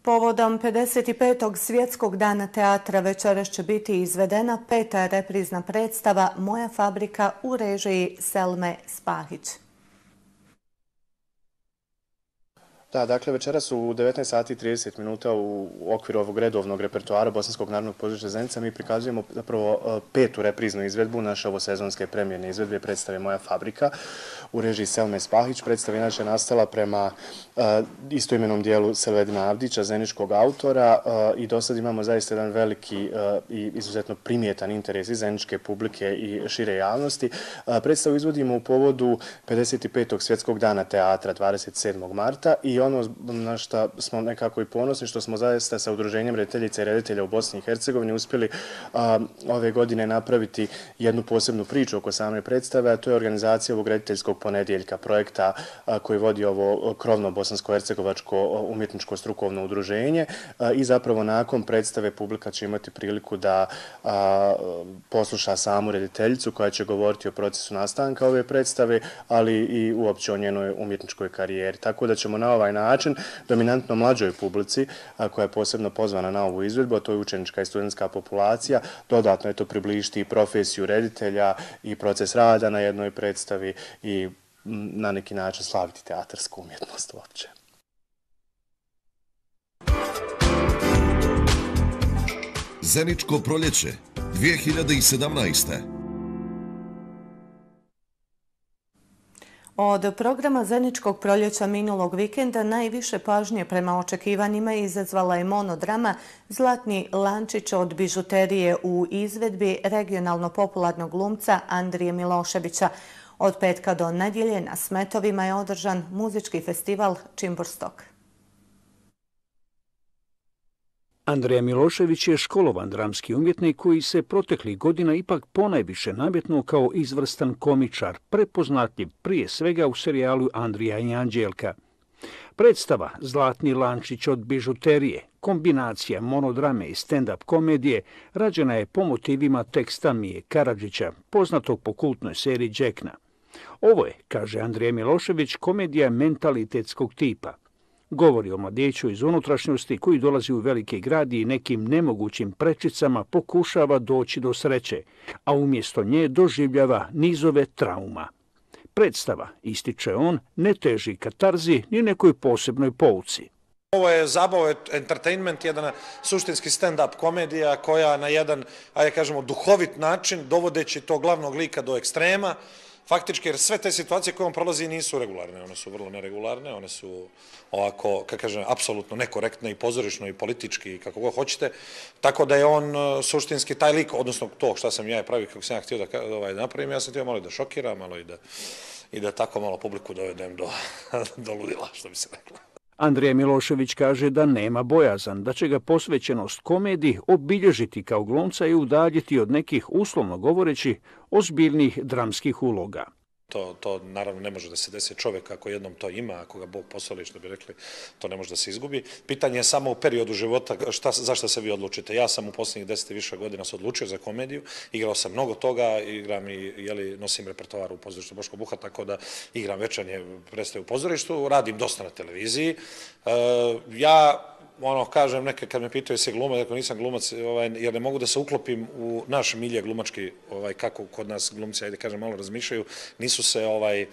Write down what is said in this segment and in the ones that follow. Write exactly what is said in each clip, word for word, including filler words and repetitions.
Povodom pedeset petog Svjetskog dana teatra večeras će biti izvedena peta reprizna predstava Moja fabrika u režiji Selme Spahić. Da, dakle, večeras u devetnaest sati i trideset minuta u okviru ovog redovnog repertoara Bosanskog narodnog pozorišta Zenica mi prikazujemo zapravo petu repriznu izvedbu naše ovosezonske premijerne izvedbe predstave Moja fabrika u režiji Selme Spahić. Predstava je inače nastala prema istoimenom dijelu Selvedina Avdića, zeničkog autora, i do sad imamo zaista jedan veliki i izuzetno primjetan interes i zeničke publike i šire javnosti. Predstavu izvodimo u povodu pedeset petog Svjetskog dana teatra dvadeset sedmog marta i ono na što smo nekako i ponosni, što smo zaista sa Udruženjem rediteljica i reditelja u Bosni i Hercegovini uspjeli ove godine napraviti jednu posebnu priču oko same predstave, a to je organizacija ovog rediteljskog ponedjeljka, projekta koji vodi ovo krovno bosansko-hercegovačko umjetničko strukovno udruženje, i zapravo nakon predstave publika će imati priliku da posluša samu rediteljicu koja će govoriti o procesu nastanka ove predstave, ali i uopće o njenoj umjetničkoj karijeri. Tako da ćemo na ovaj način dominantno mlađoj publici, koja je posebno pozvana na ovu izvedbu, a to je učenička i studentska populacija, dodatno je to približiti i profesiju reditelja i proces rada na jednoj predstavi i na neki način slaviti teatarsku umjetnost uopće. Zeničko proljeće dvije hiljade sedamnaeste. Od programa Zeničkog proljeća minulog vikenda najviše pažnje prema očekivanjima izazvala je monodrama Zlatni lančić od bižuterije u izvedbi regionalno popularnog glumca Andrije Miloševića. Od petka do nedjelje na Smetovima je održan muzički festival Čimburstok. Andrija Milošević je školovan dramski umjetnik koji se proteklih godina ipak ponajviše nametnuo kao izvrstan komičar, prepoznatljiv prije svega u serijalu Andrija i Anđelka. Predstava Zlatni lančić od bižuterije, kombinacija monodrame i stand-up komedije, rađena je po motivima teksta Mije Karadžića, poznatog po kultnoj seriji Đekna. Ovo je, kaže Andrija Milošević, komedija mentalitetskog tipa. Govori o mladiću iz unutrašnjosti koji dolazi u veliki grad i nekim nemogućim prečicama pokušava doći do sreće, a umjesto nje doživljava nizove trauma. Predstava, ističe on, ne teži katarzi ni nekoj posebnoj pouci. Ovo je zabava, entertainment, jedan suštinski stand-up komedija koja na jedan, ajde kažemo, duhovit način, dovodeći to glavnog lika do ekstrema, faktički, jer sve te situacije koje on prolazi nisu regularne, one su vrlo neregularne, one su ovako, kako kažem, apsolutno nekorektne i pozorišno i politički, kako god hoćete, tako da je on suštinski taj lik, odnosno to što sam ja pravio, kako sam ja htio da, ovaj, da napravim, ja sam htio malo i da šokiram, malo i da, i da tako malo publiku dovedem do, do ludila, što bi se reklo. Andrija Milošević kaže da nema bojazan, da će ga posvećenost komediji obilježiti kao glumca i udaljiti od nekih, uslovno govoreći, ozbiljnih dramskih uloga. To, to naravno ne može da se desi, čovjek ako jednom to ima, ako ga Bog posoli, što bi rekli, to ne može da se izgubi. Pitanje je samo u periodu života šta, zašto se vi odlučite. Ja sam u posljednjih deset i više godina se odlučio za komediju, igrao sam mnogo toga, igram i jeli, nosim repertoar u pozorištu Boško Buha, tako da igram večernje predstave u pozorištu, radim dosta na televiziji. E, ja ono, kažem neke, kad me pitaju se glumac, ako nisam glumac, ovaj, jer ne mogu da se uklopim u naš milje glumački, ovaj, kako kod nas glumci, ajde kažem, malo razmišljaju, nisu se ovaj,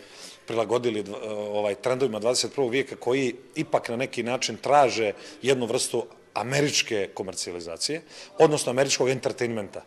prilagodili ovaj, trendovima dvadeset prvog vijeka koji ipak na neki način traže jednu vrstu američke komercijalizacije, odnosno američkog entertainmenta.